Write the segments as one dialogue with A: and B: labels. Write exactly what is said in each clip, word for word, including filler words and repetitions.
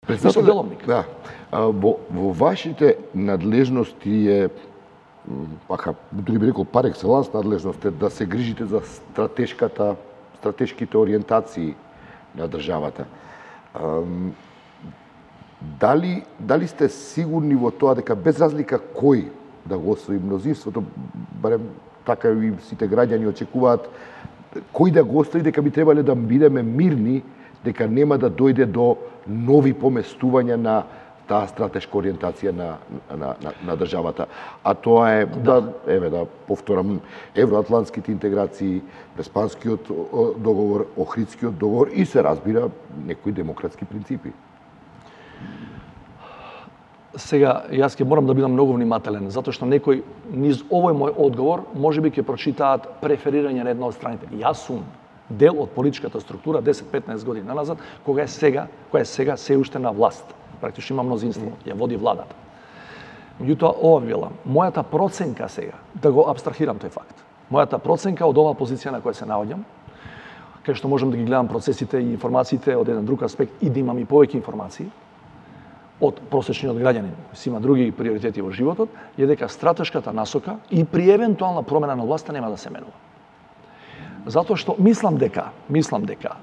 A: Мисля деловник.
B: Да. Во, во вашите надлежности е, пака, дури би рекол, пар екселанс надлежност е да се грижите за стратешката, стратешките ориентации на државата. Дали, дали сте сигурни во тоа дека без разлика кој да го освои мнозинството, барем така и сите граѓани очекуваат, кој да го остави, дека би требале да бидеме мирни, дека нема да дојде до нови поместувања на таа стратешка ориентација на, на, на, на државата. А тоа е, да, да еве да повторам, евроатлантските интеграции, Преспанскиот договор, Охридскиот договор и се разбира некои демократски принципи.
A: Сега, јас ќе морам да бидам многу внимателен, затоа што некој низ овој мој одговор можеби ќе прочитаат преферирање на една од страните. Јас сум дел од политичката структура десет-петнаесет години назад, кога е сега, која е сега се уште на власт. Практично има мнозинство, ја води владата. Меѓутоа, ова била мојата проценка сега, да го абстрахирам тој факт. Мојата проценка од оваа позиција на која се наоѓам, кај што можам да ги гледам процесите и информациите од еден друг аспект и да имам и повеќе информации од просечниот граѓанин, си има други приоритети во животот, е дека стратешката насока и при евентуална промена на власта нема да се менува. Затоа што мислам дека, мислам дека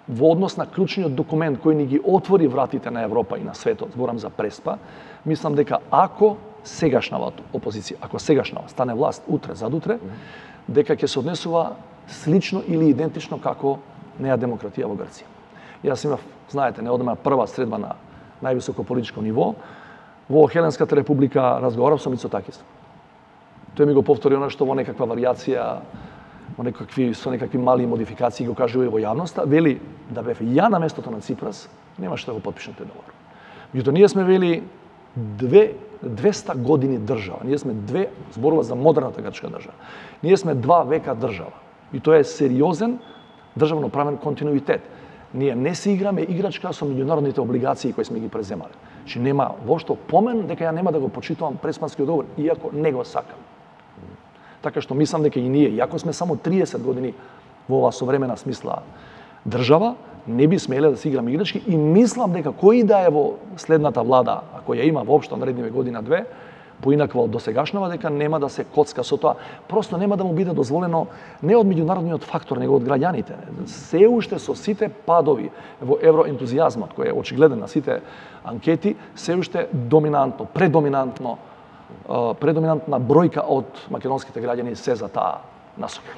A: во однос на клучниот документ кој ни ги отвори вратите на Европа и на светот, зборам за Преспа, мислам дека ако сегашната опозиција, ако сегашната стане власт утре задутре, дека ќе се однесува слично или идентично како неа демократија во Грција. Јас имав, знаете, неодамна прва средба на највисоко политичко ниво, во Хеленската република разговарав со Мицотакис. Тој ми го повтори она што во некаква варијација, во некакви, со некакви мали модификации го кажува и во јавноста, вели да бев ја на местото на Ципрас, немаше да го потпишам тој договор. Меѓутоа, ние сме вели две, двеста години држава. Ние сме две, зборува за модерната грчка држава. Ние сме два века држава. И тоа е сериозен државно-правен континуитет. Ние не се играме играчка со меѓународните облигации кои сме ги преземале. Че нема воопшто помен дека ја нема да го почитувам Преспанскиот договор, иако не го сакам. Така што мислам дека и ние, иако сме само триесет години во оваа современа смисла држава, не би смеле да се играме играчки и мислам дека кој да е во следната влада, ако ја има воопшто наредниве година-две, поинаква од досегашнава, дека нема да се коцка со тоа. Просто нема да му биде дозволено не од меѓународниот фактор, него од граѓаните. Се уште со сите падови во евроентузијазмот, кој е очигледен на сите анкети, се уште доминантно, предоминантно, предоминантна бројка од македонските граѓани се за таа насока.